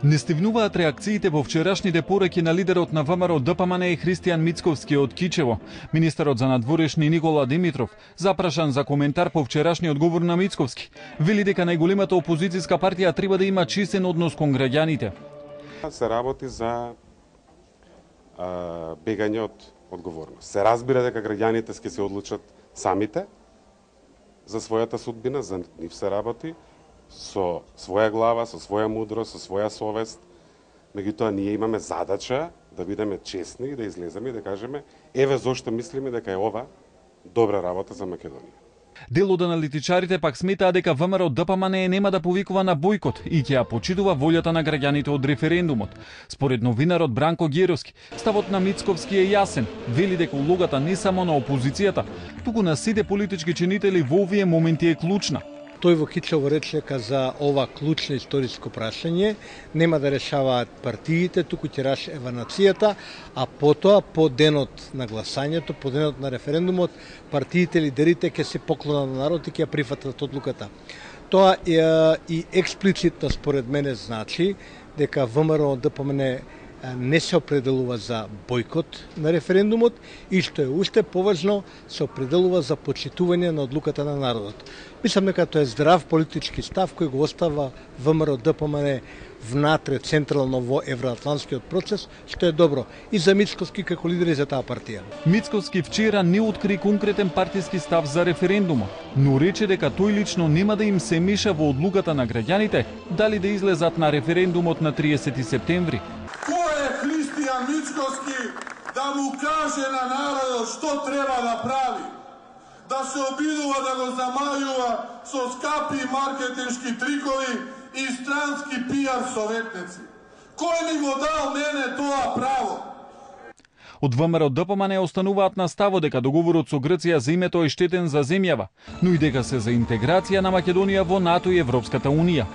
Не стигнуваат реакциите во вчерашните пораки на лидерот на ВМРО ДПМН Христијан Мицковски од Кичево. Министерот за надворешни Никола Димитров, запрашан за коментар по вчерашниот говор на Мицковски, вели дека најголемата опозицијска партија треба да има чистен однос кон граѓаните. Се работи за бегање од одговорност. Се разбира дека граѓаните ќе се одлучат самите за својата судбина, за нив се работи со своја глава, со своја мудрост, со своја совест. Меѓутоа ние имаме задача да бидеме честни и да излеземе и да кажеме еве зошто мислиме дека е ова добра работа за Македонија. Дел од аналитичарите пак сметаа дека ВМРО ДПМН нема да повикува на бојкот и ќе ја почитува волјата на граѓаните од референдумот. Според новинарот Бранко Геровски, ставот на Мицковски е јасен. Вели дека улогата не само на опозицијата, туку на сите политички чинители во овие моменти е клучна. Тој во Кичево рече дека за ова клучно историско прашање нема да решаваат партиите, туку ќе решава нацијата, а потоа по денот на гласањето, по денот на референдумот, партиите, лидерите ќе се поклонат на народ и ќе ја прифатат одлуката. Тоа и експлицитно според мене значи дека ВМРО ДПМН не се определува за бојкот на референдумот и што е уште поважно, се определува за почитување на одлуката на народот. Мислам дека тоа е здрав политички став кој го остава ВМРО ДПМН внатре централно во евроатлантскиот процес, што е добро и за Мицковски како лидер и за таа партија. Мицковски вчера не откри конкретен партиски став за референдумот, но рече дека тој лично нема да им се меша во одлуката на граѓаните дали да излезат на референдумот на 30 септември. Христијан Мицковски да му каже на народот што треба да прави, да се обидува да го замајува со скапи маркетиншки трикови и странски пиар советници. Кој ми го дал мене тоа право? Од ВМРО ДПМН остануваат на ставот дека договорот со Грција за името е штетен за земјава, но и дека се за интеграција на Македонија во НАТО и Европската Унија.